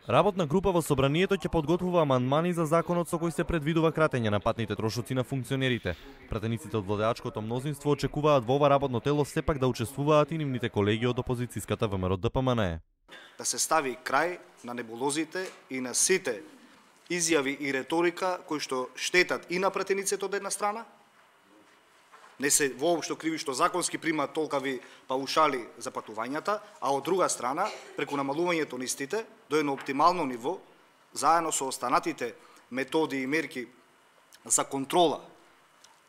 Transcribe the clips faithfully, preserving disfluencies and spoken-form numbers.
Работна група во собранието ќе подготвува амандмани за законот со кој се предвидува кратење на патните трошоци на функционерите. Пратениците од владеачкото мнозинство очекуваат во ова работно тело сепак да учествуваат и нивните колеги од опозицијската ВМРО Д П М Н Е. Да се стави крај на небулозите и на сите изјави и реторика кои што штетат и на пратениците од една страна, не се воопшто криви што законски примаат толкави паушали за патувањата, а од друга страна, преку намалувањето на истите до едно оптимално ниво, заедно со останатите методи и мерки за контрола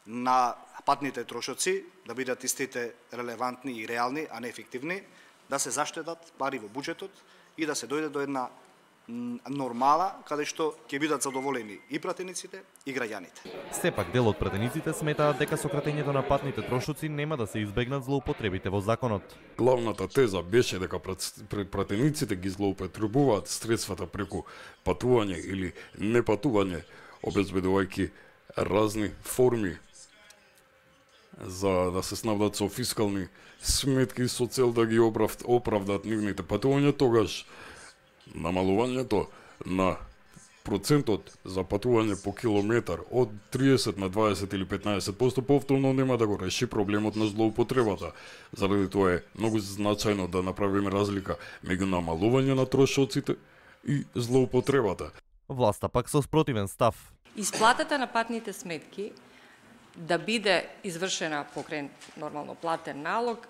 на патните трошоци, да бидат истите релевантни и реални, а не ефективни, да се заштедат пари во буџетот и да се дојде до една нормала каде што ќе бидат задоволени и пратениците и граѓаните. Сепак дел од пратениците сметаат дека со кратењето на патните трошоци нема да се избегнат злоупотребите во законот. Главната теза беше дека пратениците ги злоупотребуваат средствата преку патување или непатување, обезбедувајќи разни форми за да се снабдат со фискални сметки со цел да ги оправдат нивните патувања, тогаш намалувањето на процентот за патување по километар од триесет на дваесет или петнаесет проценти повторно нема да го реши проблемот на злоупотребата. Заради тоа е многу значајно да направиме разлика меѓу намалување на трошоците и злоупотребата. Власта пак со спротивен став. Исплатата на патните сметки да биде извршена покрај нормално платен налог,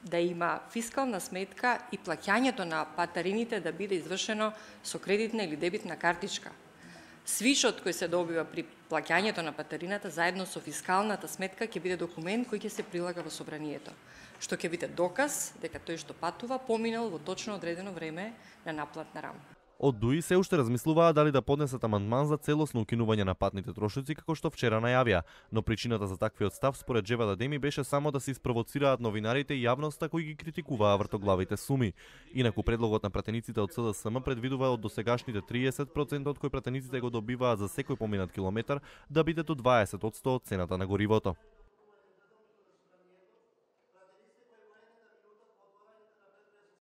да има фискална сметка и плаќањето на патарините да биде извршено со кредитна или дебитна картичка. Свишот кој се добива при плаќањето на патарината заедно со фискалната сметка ќе биде документ кој ќе се прилага во собранието, што ќе биде доказ дека тој што патува поминал во точно одредено време на наплатна рама. Од ДУИ се уште размислуваат дали да поднесат амандман за целосно укинување на патните трошоци како што вчера најавија, но причината за таквиот став според Джевада Деми беше само да се испровоцираат новинарите и јавноста кои ги критикуваа вртоглавите суми. Инаку предлогот на пратениците од С Д С М предвидува од досегашните триесет проценти од кои пратениците го добиваат за секој поминат километар да биде до дваесет проценти од цената на горивото.